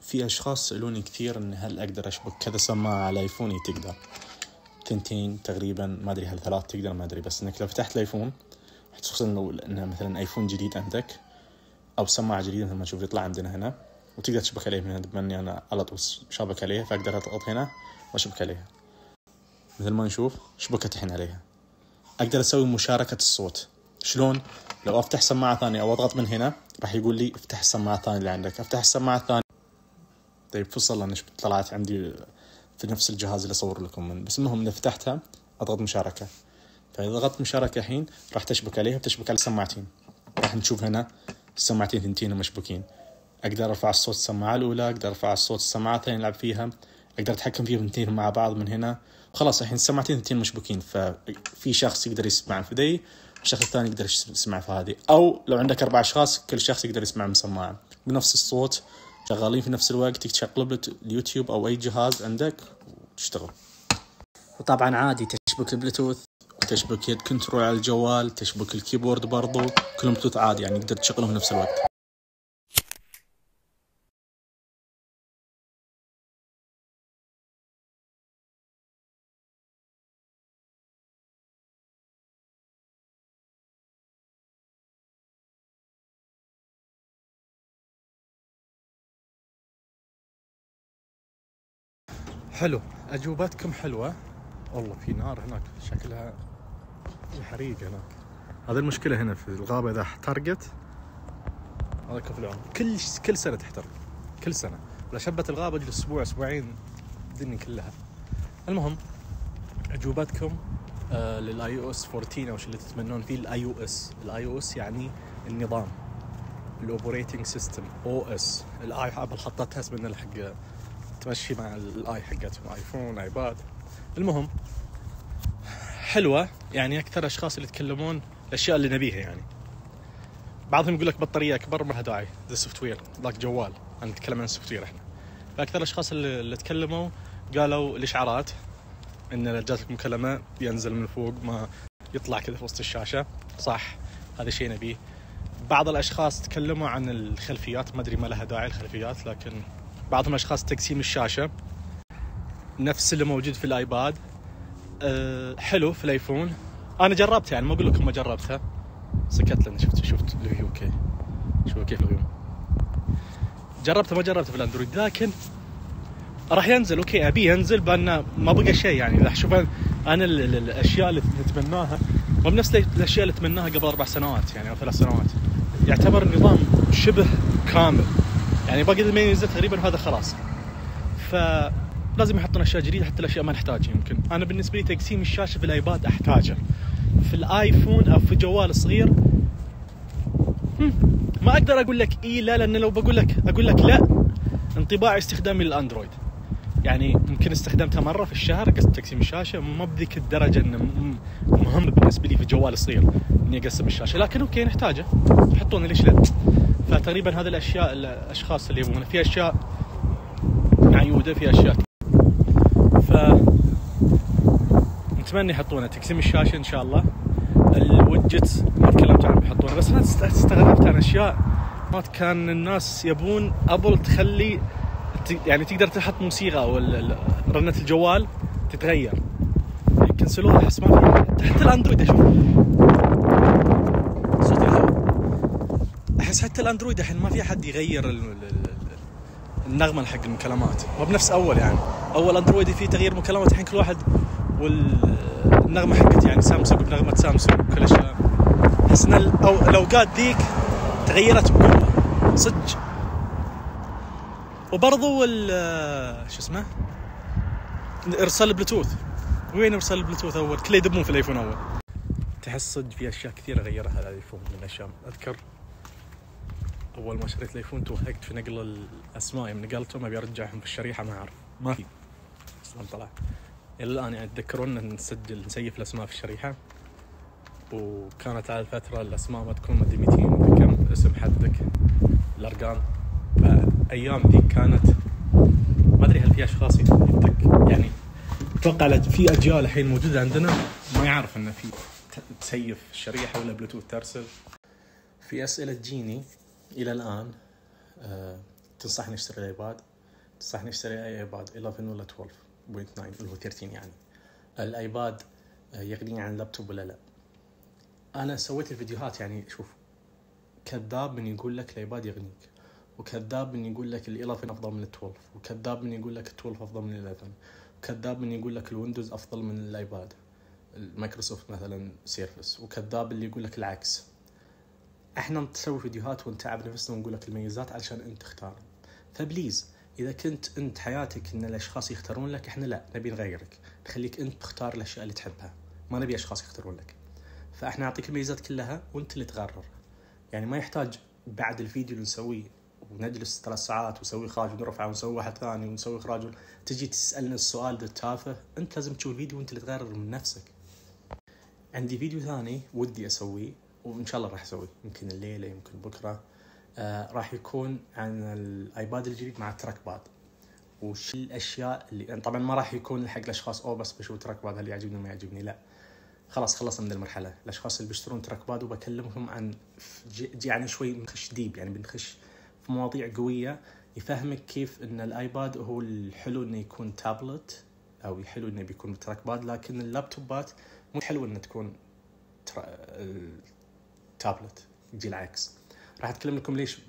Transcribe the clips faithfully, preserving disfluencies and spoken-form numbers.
في أشخاص سألوني كثير إن هل أقدر أشبك كذا سماعة على آيفوني. تقدر تنتين تقريبا، ما أدري هل ثلاث تقدر ما أدري، بس إنك لو فتحت الآيفون خصوصا لو إنه مثلا آيفون جديد عندك أو سماعة جديدة مثل ما تشوف يطلع عندنا هنا، وتقدر تشبك عليه من هنا. بما إني أنا على طول شابك عليه فأقدر أضغط هنا وأشبك عليها مثل ما نشوف شبكت الحين عليها. أقدر أسوي مشاركة الصوت. شلون؟ لو أفتح سماعة ثانية أو أضغط من هنا راح يقول لي افتح السماعة الثانية اللي عندك، أفتح السماعة الثانية. طيب فصل أنا طلعت عندي في نفس الجهاز اللي أصور لكم من، بس المهم إذا فتحتها أضغط مشاركة، فإذا ضغطت مشاركة الحين راح تشبك عليها، بتشبك على السماعتين. راح نشوف هنا السماعتين ثنتين مشبوكين. أقدر أرفع الصوت السماعة الأولى، أقدر أرفع الصوت السماعة الثانية نلعب فيها، أقدر أتحكم فيهم اثنين مع بعض من هنا. خلاص الحين السماعتين ثنتين مشبوكين، ففي شخص يقدر يسمع في ذي والشخص الثاني يقدر يسمع في هذه، أو لو عندك أربع أشخاص كل شخص يقدر يسمع من سماعة بنفس الصوت، شغالين في نفس الوقت، تقلب اليوتيوب أو أي جهاز عندك وتشتغل. وطبعا عادي تشبك البلوتوث وتشبك يد كنترول على الجوال، تشبك الكيبورد برضو، كلهم بلوتوث عادي يعني تقدر تشغلهم في نفس الوقت. حلو، أجوبتكم حلوة والله. في نار هناك شكلها في حريق هناك. هذه المشكلة هنا في الغابة، إذا احترقت هذا كفلان كل كل سنة تحترق، كل سنة. ولا شبت الغابة جل أسبوع أسبوعين الدنيا كلها. المهم أجوبتكم آه للآي أو إس أربعة عشر أو شو اللي تتمنون فيه. الآي أو إس الآي أو إس يعني النظام، الأوبريتنج سيستم، أو إس. الآي حاب حطتها اسمنا الحق تمشي مع الآي حقتهم، آيفون آيباد. المهم حلوة يعني. أكثر أشخاص اللي يتكلمون الأشياء اللي نبيها يعني. بعضهم يقول لك بطارية أكبر ما لها داعي، ذا سوفت وير ذاك جوال. أنا نتكلم عن السوفت وير إحنا. فأكثر الأشخاص اللي, اللي تكلموا قالوا الإشعارات، إن لو جاتك مكالمة ينزل من فوق ما يطلع كذا في وسط الشاشة. صح، هذا شيء نبيه. بعض الأشخاص تكلموا عن الخلفيات، ما أدري ما لها داعي الخلفيات، لكن بعضهم أشخاص تقسيم الشاشة نفس اللي موجود في الآيباد. أه حلو في الآيفون. أنا جربتها يعني، ما أقول لكم ما جربتها، سكت لأن شفت شفت الفيو كيف شوفوا كيف الفيو. جربته ما جربته في الأندرويد، لكن راح ينزل أوكي أبي ينزل، بأن ما بقى شيء يعني. راح شوف أنا الأشياء اللي نتمناها مو بنفس الأشياء اللي تمناها قبل أربع سنوات يعني أو ثلاث سنوات. يعتبر النظام شبه كامل يعني، باقي ما ينزل تقريبا هذا خلاص. فلازم يحطون أشياء جديدة حتى الأشياء ما نحتاجها. يمكن أنا بالنسبة لي تقسيم الشاشة في الآيباد أحتاجه، في الآيفون أو في جوال صغير ما أقدر أقول لك إيه لا، لأن لو بقول لك أقول لك لا انطباع استخدامي للأندرويد يعني يمكن استخدمتها مرة في الشهر قسم تقسيم الشاشة، ما بذيك الدرجة إنه مهم بالنسبة لي في جوال صغير إني أقسم الشاشة، لكن أوكي نحتاجه يحطونه ليش لا. فتقريبا هذه الأشياء الأشخاص اللي يبغون، في أشياء معيودة في أشياء، ف نتمنى يحطونه تقسيم الشاشة إن شاء الله. الويدجت ما تكلمت عنه بيحطونه، بس أنا استغربت عن أشياء ما كان الناس يبون أبل تخلي يعني تقدر تحط موسيقى أو رنة الجوال تتغير، يعني كنسلوها. أحس ما في حتى الأندرويد، أشوف صوت الهواء، أحس حتى الأندرويد الحين ما في أحد يغير النغمة حق المكالمات، ما بنفس أول يعني. أول أندرويد فيه تغيير مكالمات، الحين كل واحد والنغمة حقت يعني سامسونج بنغمة سامسونج وكل شيء. أحس إن الأوقات ذيك تغيرت بقوة صدق. وبرضو شو اسمه إرسال البلوتوث، وين إرسال البلوتوث أول كله يدبون في الآيفون أول. تحس صدق في أشياء كثيرة غيرها الآيفون من الأشياء. أذكر أول ما شريت الآيفون توهقت في نقل الأسماء، من نقلتهم أبي أرجعهم في الشريحة ما أعرف ما في أصلاً طلع. إلى الآن يعني أتذكرون أن نسجل نسيف الأسماء في الشريحة، وكانت على الفترة الأسماء ما تكون مدري مئتين كم اسم حدك الأرقام. فأيام دي كانت ما أدري هل في أشخاص يدك يعني. أتوقع في أجيال الحين موجودة عندنا ما يعرف أن في تسيف الشريحة ولا بلوتوث ترسل. في أسئلة تجيني إلى الآن. أه تنصحني أشتري الآيباد؟ صح نشتري اي ايباد إحدى عشر ولا اثنا عشر فاصلة تسعة اللي هو ثلاثة عشر يعني الايباد يغني عن اللابتوب ولا لا؟ انا سويت الفيديوهات يعني شوف، كذاب من يقول لك الايباد يغنيك، وكذاب من يقول لك ال إحدى عشر افضل من ال اثنا عشر، وكذاب من يقول لك ال اثنا عشر افضل من ال إحدى عشر، وكذاب من يقول لك الويندوز افضل من الايباد المايكروسوفت مثلا سيرفس، وكذاب اللي يقول لك العكس. احنا نسوي فيديوهات ونتعب نفسنا ونقول لك الميزات علشان انت تختار. فبليز اذا كنت انت حياتك ان الاشخاص يختارون لك، احنا لا نبي نغيرك، نخليك انت تختار الاشياء اللي تحبها، ما نبي اشخاص يختارون لك. فاحنا نعطيك الميزات كلها وانت اللي تقرر. يعني ما يحتاج بعد الفيديو اللي نسويه ونجلس ثلاث ساعات ونسوي اخراج ونرفعه ونسوي واحد ثاني ونسوي اخراج تجي تسالنا السؤال ده التافه. انت لازم تشوف الفيديو وانت اللي تقرر من نفسك. عندي فيديو ثاني ودي اسويه وان شاء الله راح اسويه، يمكن الليله يمكن بكره، آه راح يكون عن الايباد الجديد مع التراك باد، وش الاشياء اللي يعني طبعا ما راح يكون حق الاشخاص او بس بشوف تراك باد هل يعجبني ما يعجبني، لا خلاص خلصنا من المرحله. الاشخاص اللي بيشترون تراك باد وبكلمهم عن يعني شوي بنخش ديب، يعني بنخش في مواضيع قويه يفهمك كيف ان الايباد هو الحلو انه يكون تابلت او الحلو انه بيكون تراك باد، لكن اللابتوبات مو حلو انه تكون تابلت، يجي العكس. راح اتكلم لكم ليش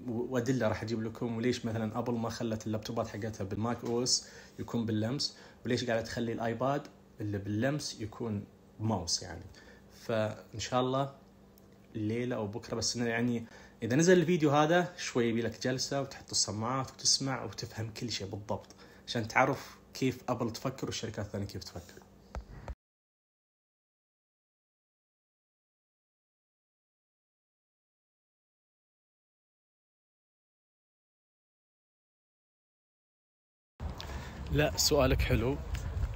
وادله راح اجيب لكم، وليش مثلا ابل ما خلت اللابتوبات حقتها بالماك او اس يكون باللمس، وليش قاعده تخلي الايباد اللي باللمس يكون ماوس يعني. فان شاء الله الليله او بكره، بس يعني اذا نزل الفيديو هذا شوي يبي لك جلسه وتحط السماعات وتسمع وتفهم كل شيء بالضبط عشان تعرف كيف ابل تفكر والشركات الثانيه كيف تفكر. لا سؤالك حلو،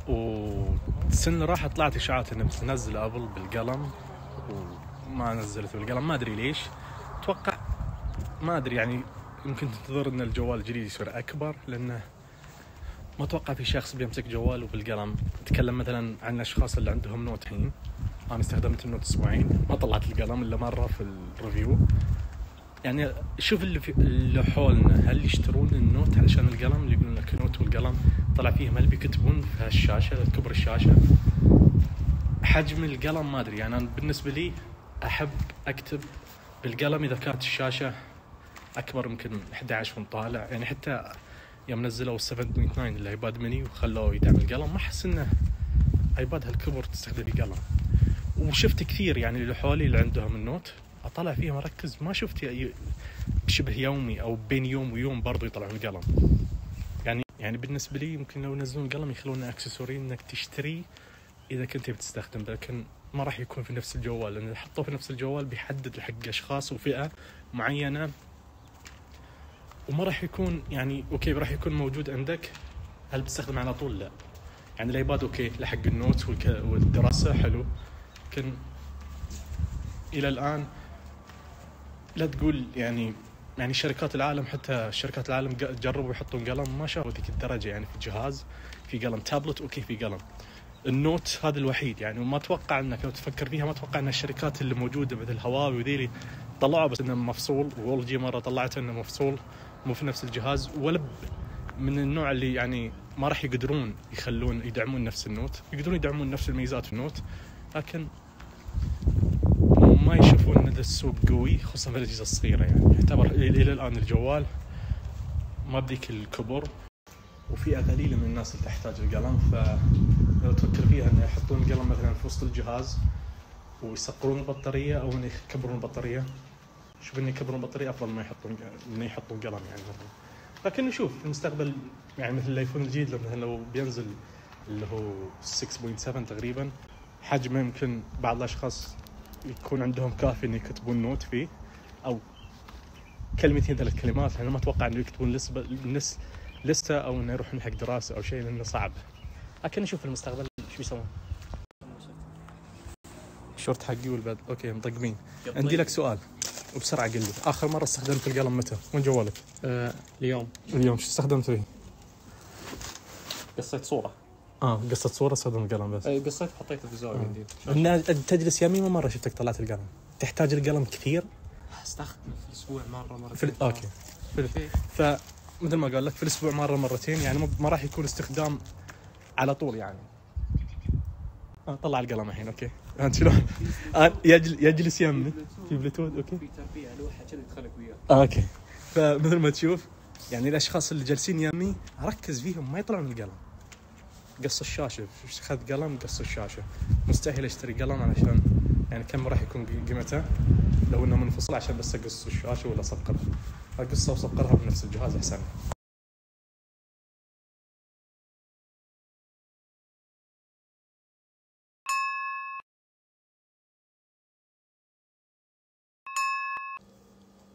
والسنة راح طلعت إشاعات إنه بتنزل أبل بالقلم وما نزلت بالقلم، ما أدري ليش. أتوقع ما أدري يعني يمكن تنتظر إن الجوال الجديد يصير أكبر، لأنه ما أتوقع في شخص بيمسك جواله بالقلم. أتكلم مثلا عن الأشخاص اللي عندهم نوت الحين، أنا استخدمت النوت أسبوعين ما طلعت القلم إلا مرة في الريفيو. يعني شوف اللي, في اللي حولنا هل يشترون النوت علشان القلم، اللي يقولون لك النوت والقلم طلع فيهم هل بيكتبون في هالشاشة كبر الشاشة حجم القلم ما أدري. يعني أنا بالنسبة لي أحب أكتب بالقلم إذا كانت الشاشة أكبر يمكن أحد عشر من طالع. يعني حتى يوم نزلوا سبعة فاصلة تسعة الايباد ميني وخلوه يدعم القلم ما أحس إنه ايباد هالكبر تستخدم القلم. وشفت كثير يعني اللي حولي اللي عندهم النوت أطلع فيهم أركز ما شفت بشبه يومي أو بين يوم ويوم برضو يطلعون القلم. يعني يعني بالنسبة لي يمكن لو ينزلون القلم يخلونه أكسسوري إنك تشتري إذا كنت بتستخدم، لكن ما راح يكون في نفس الجوال، لأن إذا حطوه في نفس الجوال بيحدد حق أشخاص وفئة معينة، وما راح يكون يعني أوكي راح يكون موجود عندك هل بتستخدم على طول؟ لا. يعني الايباد أوكي لحق النوت والدراسة حلو، لكن إلى الآن لا تقول يعني يعني شركات العالم حتى شركات العالم جربوا يحطون قلم ما شافوا ذيك الدرجة. يعني في جهاز في قلم تابلت أوكي في قلم النوت هذا الوحيد يعني. وما أتوقع أنك لو تفكر فيها ما أتوقع أن الشركات اللي موجودة مثل هواوي وذيلي طلعوا بس إنه مفصول، وول جي مرة طلعت إنه مفصول مو في نفس الجهاز، ولا من النوع اللي يعني ما راح يقدرون يخلون يدعمون نفس النوت، يقدرون يدعمون نفس الميزات في النوت لكن ما يشوفون ان السوق قوي خصوصا في الاجهزه الصغيره. يعني يعتبر الى الان الجوال ما بديك الكبر، وفئه قليله من الناس اللي تحتاج القلم. فلو تفكر فيها ان يحطون القلم مثلا في وسط الجهاز ويسقرون البطاريه او ان يكبرون البطاريه، شوف ان يكبرون البطاريه افضل ما يحطون ان يحطون قلم يعني مثلا. لكن نشوف في المستقبل يعني مثل الايفون الجديد لو مثلا لو بينزل اللي هو ستة فاصلة سبعة تقريبا حجمه يمكن بعض الاشخاص يكون عندهم كافي ان يكتبون نوت فيه او كلمتين ثلاث كلمات. انا ما اتوقع انه يكتبون لسه لسه او انه يروحون حق دراسه او شيء لانه صعب. لكن نشوف في المستقبل شو بيسوون. شورت حقي والبعد اوكي مطقمين. عندي لك سؤال وبسرعه قل لي اخر مره استخدمت القلم متى؟ وين جوالك؟ آه اليوم. اليوم شو استخدمت فيه؟ قصيت صوره. اه قصة صورة استخدم القلم بس. اي قصيت حطيته في زاوية جديد. آه. تجلس يمين ما مرة شفتك طلعت القلم. تحتاج القلم كثير؟ استخدمه في الاسبوع مرة مرة. في... اوكي. في... ف مثل ما قال لك في الاسبوع مره مرتين، يعني ما راح يكون استخدام على طول يعني. آه طلع القلم الحين اوكي. انت شلون؟ آه يجل يجلس يمي في بلوتوث اوكي. في تربيه لوحه كذا يدخلك وياه. آه اوكي. فمثل ما تشوف يعني الاشخاص اللي جالسين يمي ركز فيهم ما يطلعون القلم. قص الشاشه، خذ قلم قص الشاشه. مستحيل اشتري قلم علشان يعني كم راح يكون قيمته لو انه منفصل عشان بس اقص الشاشه ولا اصقرها. اقصها وصقرها بنفس الجهاز احسن.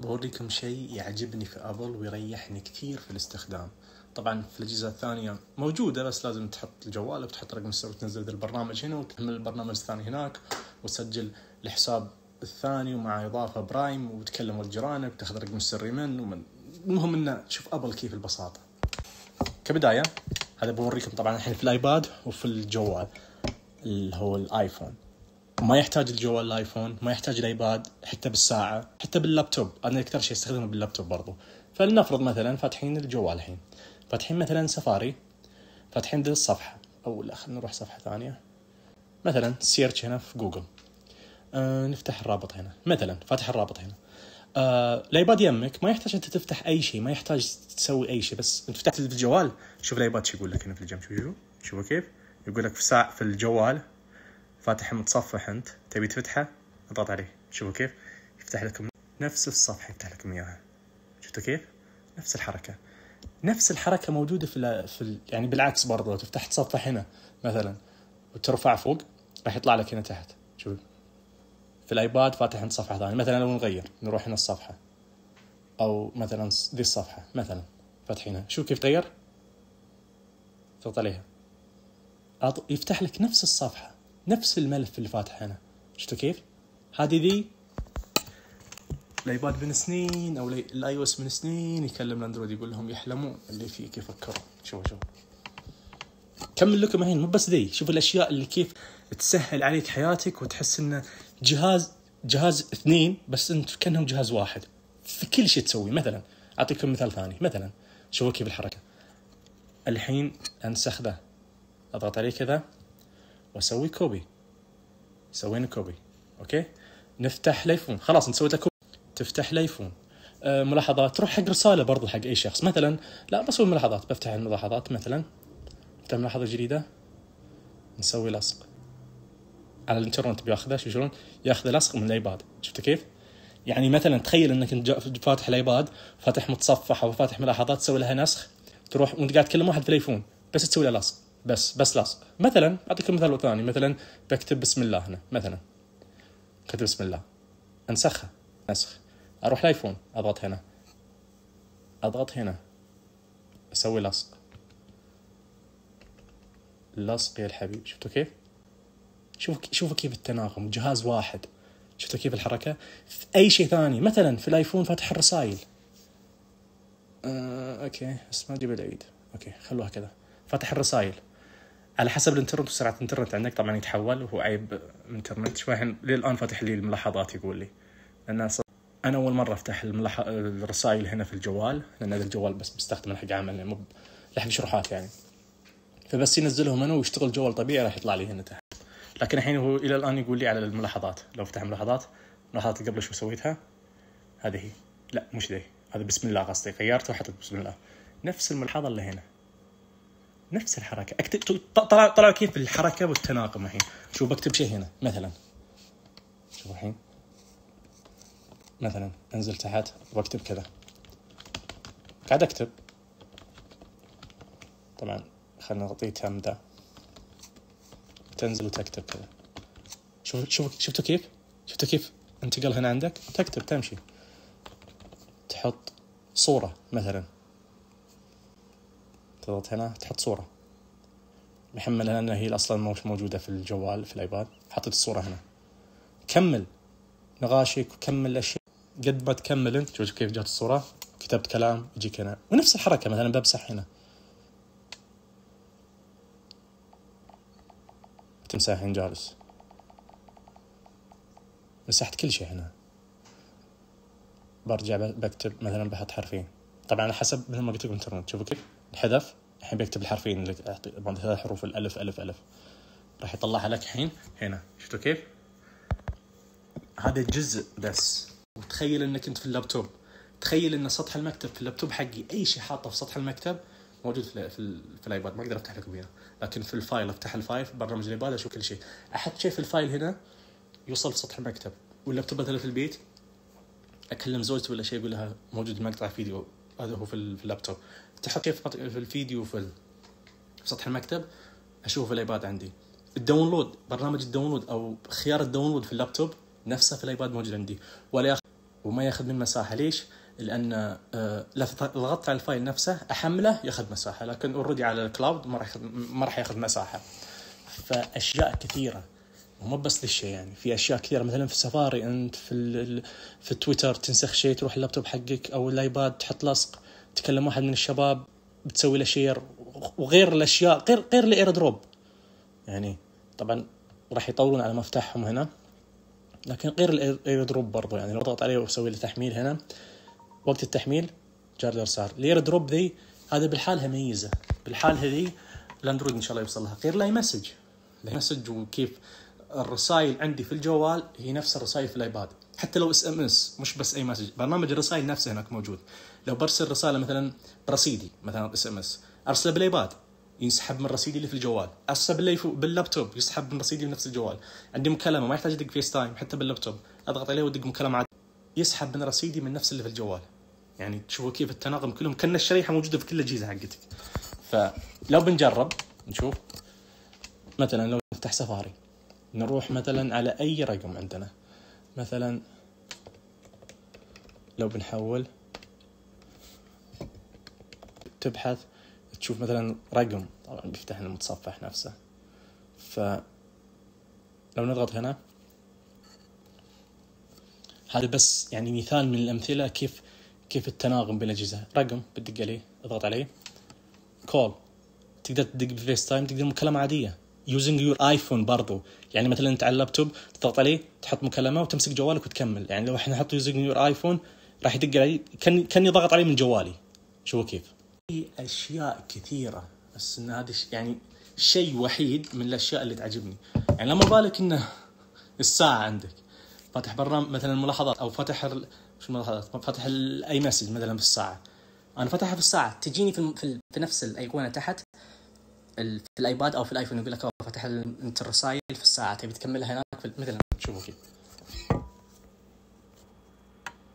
بوريكم شيء يعجبني في ابل ويريحني كثير في الاستخدام. طبعا في الاجهزه الثانيه موجوده بس لازم تحط الجوال وتحط رقم السر وتنزل البرنامج هنا وتحمل البرنامج الثاني هناك وتسجل الحساب الثاني ومع اضافه برايم وتكلم ولد جيرانك وتاخذ رقم السري منه ومن المهم انه شوف ابل كيف البساطه. كبدايه هذا بوريكم طبعا الحين في الايباد وفي الجوال اللي هو الايفون. ما يحتاج الجوال الايفون، ما يحتاج الايباد، حتى بالساعه، حتى باللابتوب. انا اكثر شيء استخدمه باللابتوب برضو. فلنفرض مثلا فاتحين الجوال الحين، فاتحين مثلا سفاري، فاتحين دي الصفحه، او لا خلينا نروح صفحه ثانيه مثلا سيرش هنا في جوجل. آه نفتح الرابط هنا مثلا، فاتح الرابط هنا. آه الايباد يمك ما يحتاج انت تفتح اي شيء، ما يحتاج تسوي اي شيء، بس انت فتحت الجوال. شوف الايباد شو يقول لك هنا في الجنب. شوفوا شوفوا كيف يقول لك في ساعه في الجوال فاتح متصفح، انت تبي تفتحه اضغط عليه. شوفوا كيف يفتح لكم نفس الصفحه، يفتح لكم اياها. شفتوا كيف نفس الحركه نفس الحركه موجوده في في ال... يعني بالعكس برضه. تفتح تصفح هنا مثلا وترفع فوق راح يطلع لك هنا تحت. شوف في الايباد فاتح عند صفحه ثانيه مثلا. لو نغير نروح هنا الصفحه او مثلا دي الصفحه مثلا فاتحينها. شوف كيف تغير، تضغط عليها يفتح لك نفس الصفحه نفس الملف اللي فاتح هنا. شفتوا كيف؟ هذه ذي الايباد من سنين او الاي او اس من سنين يكلم الاندرويد يقول لهم يحلمون اللي فيك يفكروا. شوفوا شوفوا كمل لكم الحين. مو بس ذي، شوف الاشياء اللي كيف تسهل عليك حياتك وتحس انه جهاز جهاز اثنين بس انت كانهم جهاز واحد في كل شيء تسوي. مثلا اعطيكم مثال ثاني مثلا. شوفوا كيف الحركه الحين انسخ ذا، اضغط عليه كذا واسوي كوبي. سوينا كوبي اوكي. نفتح الايفون خلاص نسوي له كوبي. تفتح الايفون أه ملاحظات تروح حق رساله برضو حق اي شخص مثلا. لا بسوي ملاحظات، بفتح الملاحظات مثلا، افتح ملاحظه جديده نسوي لصق على الانترنت. بياخذه شو شلون ياخذ لصق من الايباد. شفت كيف؟ يعني مثلا تخيل انك انت فاتح الايباد فاتح متصفح او فاتح ملاحظات تسوي لها نسخ، تروح وانت قاعد تكلم واحد في الايفون بس تسوي له لصق بس بس لصق. مثلا اعطيكم مثال ثاني مثلا بكتب بسم الله هنا مثلا، كتب بسم الله انسخها نسخ. اروح الايفون اضغط هنا اضغط هنا اسوي لصق لصق يا الحبيب. شفتوا كيف؟ شوف شوفوا كيف التناغم جهاز واحد. شفتوا كيف الحركه؟ في اي شيء ثاني مثلا في الايفون فاتح الرسائل آه، اوكي بس ما تجيب العيد اوكي خلوها كذا. فاتح الرسائل على حسب الانترنت وسرعه الانترنت عندك طبعا يتحول وهو عيب انترنت شوي. للان فاتح لي الملاحظات يقول لي لان انا اول مره افتح الملاح... الرسائل هنا في الجوال لان هذا الجوال بس بستخدمه حق عمل مو لحق شروحات يعني. فبس ينزلهم انا ويشتغل الجوال طبيعي راح يطلع لي هنا تحت. لكن الحين هو الى الان يقول لي على الملاحظات. لو فتح ملاحظات ملاحظات قبل شو سويتها هذه هي. لا مش ذي، هذا بسم الله قصدي غيرته وحطيت بسم الله. نفس الملاحظه اللي هنا نفس الحركه. اكتب طلع طلع كيف الحركه والتناغم الحين. شوف بكتب شيء هنا مثلا. شوف الحين مثلا انزل تحت واكتب كذا. قاعد اكتب طبعا خلنا نعطيه تم ده تنزل وتكتب كذا. شوف شوف شفتوا كيف شفتوا كيف انتقل هنا عندك تكتب تمشي. تحط صورة مثلا تضغط هنا تحط صورة محملها لأنها هي أصلا مش موجودة في الجوال في الآيباد. حطيت الصورة هنا. كمل نغاشك وكمل الأشياء قد ما تكمل انت. شوف كيف جات الصورة كتبت كلام يجيك هنا ونفس الحركة. مثلا بمسح هنا تمسح هنا جالس مسحت كل شيء هنا. برجع بكتب مثلا بحط حرفين طبعا على حسب مثل ما قلت لكم انترنت. شوفوا كيف الحذف الحين بيكتب الحرفين اللي بعد ثلاث حروف الألف ألف ألف راح يطلعها لك الحين هنا. شفتوا كيف؟ هذا جزء بس. وتخيل انك انت في اللابتوب، تخيل ان سطح المكتب في اللابتوب حقي اي شيء حاطه في سطح المكتب موجود في في, في الايباد. ما اقدر افتح لكم اياه، لكن في الفايل افتح الفايل في برنامج الايباد اشوف كل شيء. احط شيء في الفايل هنا يوصل في سطح المكتب. واللابتوب مثلا في البيت اكلم زوجتي ولا شيء اقول لها موجود مقطع فيديو هذا هو في اللابتوب. تحط شيء في الفيديو في سطح المكتب اشوفه في الايباد عندي. الداونلود، برنامج الداونلود او خيار الداونلود في اللابتوب نفسه في الايباد موجود عندي ولا ياخذ وما ياخذ من مساحه. ليش؟ لان آه لا ضغطت على الفايل نفسه احمله ياخذ مساحه، لكن اوريدي على الكلاود ما راح ما راح ياخذ مساحه. فاشياء كثيره ومو بس للشيء، يعني في اشياء كثيره مثلا في سفاري انت في في تويتر تنسخ شيء تروح اللابتوب حقك او الايباد تحط لصق، تكلم واحد من الشباب بتسوي له شير، وغير الاشياء غير غير الاير دروب. يعني طبعا راح يطولون على مفتاحهم هنا، لكن غير الاير دروب برضو يعني لو ضغط عليه واسوي له تحميل هنا وقت التحميل جاردر صار. الاير دروب ذي هذا بالحالها ميزه، بالحالها ذي الاندرويد ان شاء الله يوصل لها. غير لاي مسج لاي مسج وكيف الرسائل عندي في الجوال هي نفس الرسائل في الايباد، حتى لو اس ام اس مش بس اي مسج. برنامج الرسائل نفسه هناك موجود. لو برسل رساله مثلا برصيدي مثلا اس ام اس ارسله بالايباد ينسحب من رصيدي اللي في الجوال، ارسله باللابتوب يسحب من رصيدي بنفس الجوال. عندي مكالمه ما يحتاج ادق فيس تايم حتى باللابتوب، اضغط عليه وادق مكالمه عادي يسحب من رصيدي من نفس اللي في الجوال. يعني تشوفوا كيف التناغم كلهم كأن الشريحه موجوده في كل الاجهزه حقتك. فلو بنجرب نشوف مثلا لو نفتح سفاري نروح مثلا على اي رقم عندنا، مثلا لو بنحول تبحث تشوف مثلا رقم، طبعا بيفتح المتصفح نفسه. فلو نضغط هنا هذا بس يعني مثال من الامثله كيف كيف التناغم بين الاجهزه. رقم بتدق عليه اضغط عليه كول، تقدر تدق بفيس تايم، تقدر مكالمه عاديه يوزنج يور ايفون برضو. يعني مثلا انت على اللابتوب تضغط عليه تحط مكالمه وتمسك جوالك وتكمل. يعني لو احنا نحط يوزنج يور ايفون راح يدق علي كان كاني ضغط عليه من جوالي. شوفوا كيف في اشياء كثيره، بس ان هذا يعني شيء وحيد من الاشياء اللي تعجبني. يعني لما بالك انه الساعه عندك فاتح برنامج مثلا الملاحظات او فتح ال... شو الملاحظات فتح ال... اي مسج مثلا بالساعه، انا فتحها في الساعه تجيني في في, في نفس الايقونه تحت ال... في الايباد او في الايفون يقول لك فتح ال... انت الرسائل في الساعه تبي تكملها هناك في مثلا. شوفوا كيف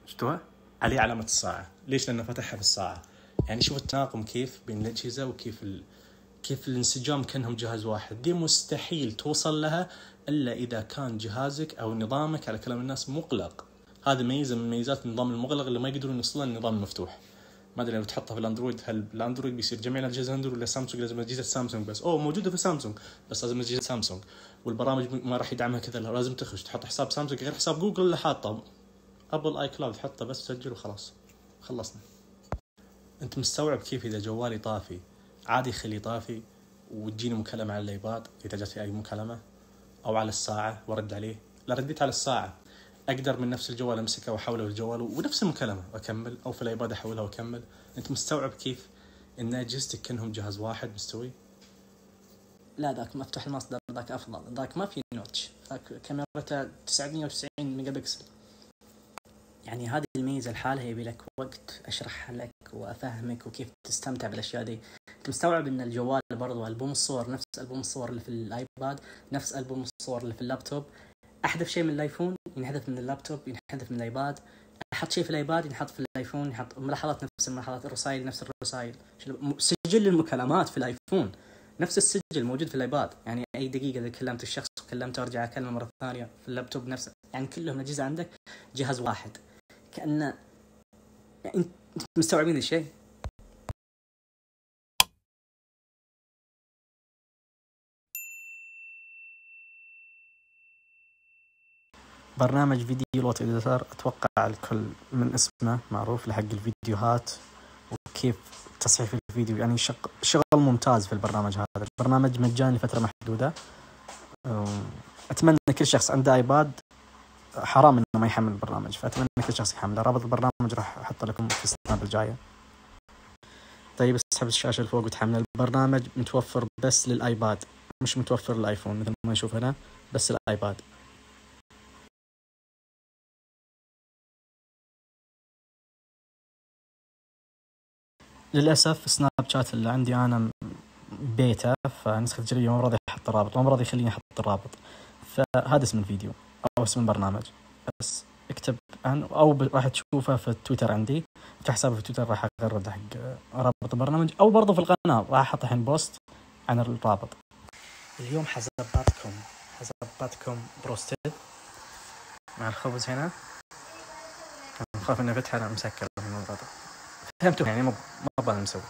شفتوها عليه علامه الساعه. ليش؟ لانه فتحها في الساعه. يعني شوف التناغم كيف بين الاجهزه وكيف ال... كيف الانسجام كأنهم جهاز واحد. دي مستحيل توصل لها إلا إذا كان جهازك أو نظامك على كلام الناس مغلق. هذا ميزة من ميزات النظام المغلق اللي ما يقدرون يوصلون للنظام المفتوح. ما أدري لو تحطها في الأندرويد هل الأندرويد بيصير جميع الأجهزة أندرويد ولا سامسونج لازم أجهزة سامسونج بس؟ أوه موجودة في سامسونج بس لازم أجهزة سامسونج، والبرامج ما راح يدعمها كذا، لازم تخش تحط حساب سامسونج غير حساب جوجل اللي حاطه. أبل آي كلاود حطه بس سجل وخلاص خلصنا. أنت مستوعب كيف إذا جوالي طافي عادي خليه طافي وتجيني مكالمة على الايباد إذا جاتني أي مكالمة، أو على الساعة ورد عليه. لا رديت على الساعة أقدر من نفس الجوال أمسكه وأحوله للجوال ونفس المكالمة وأكمل، أو في الايباد أحولها وأكمل. أنت مستوعب كيف إن أجهزتك كأنهم جهاز واحد مستوي؟ لا ذاك مفتوح المصدر ذاك أفضل، ذاك ما في نوتش، ذاك كاميرته تسعمية وتسعين ميجا بكسل. يعني هذه الميزة لحالها يبي لك وقت أشرحها لك وأفهمك وكيف تستمتع بالأشياء دي. مستوعب ان الجوال برضو ألبوم الصور نفس ألبوم الصور اللي في الايباد نفس ألبوم الصور اللي في اللابتوب. احذف شيء من الايفون ينحذف من اللابتوب ينحذف من الايباد، احط شيء في الايباد ينحط في الايفون، يحط ملاحظات نفس الملاحظات، الرسائل نفس الرسائل، سجل المكالمات في الايفون نفس السجل موجود في الايباد. يعني اي دقيقه اذا كلمت الشخص وكلمته ارجع اكلمه مره ثانيه في اللابتوب نفسه. يعني كلهم الاجهزه عندك جهاز واحد كأنه يعني انت مستوعبين الشيء. برنامج فيديو لوت إديتر أتوقع الكل من اسمه معروف لحق الفيديوهات وكيف تصحيح الفيديو. يعني شغل شغل ممتاز في البرنامج هذا. البرنامج مجاني لفترة محدودة. أتمنى كل شخص عنده آيباد حرام إنه ما يحمل البرنامج، فأتمنى كل شخص يحمله. رابط البرنامج راح أحطه لكم في السناب الجاية. طيب اسحب الشاشة لفوق وتحمل. البرنامج متوفر بس للآيباد، مش متوفر للآيفون مثل ما نشوف هنا، بس الآيباد. للأسف سناب شات اللي عندي أنا بيتا، فنسخة تجريبية ما راضي أحط الرابط، ما راضي يخليني أحط الرابط. فهذا اسم الفيديو أو اسم البرنامج، بس اكتب عنه أو راح تشوفه في تويتر عندي، في حسابي في تويتر راح أغرد حق رابط البرنامج، أو برضو في القناة راح أحط الحين بوست عن الرابط. اليوم حزباتكم حزباتكم بروستد مع الخبز هنا. أنا خاف إني فتحة أنا مسكر من الموضوع ده، فهمتوا يعني ما ما بقى نسوي.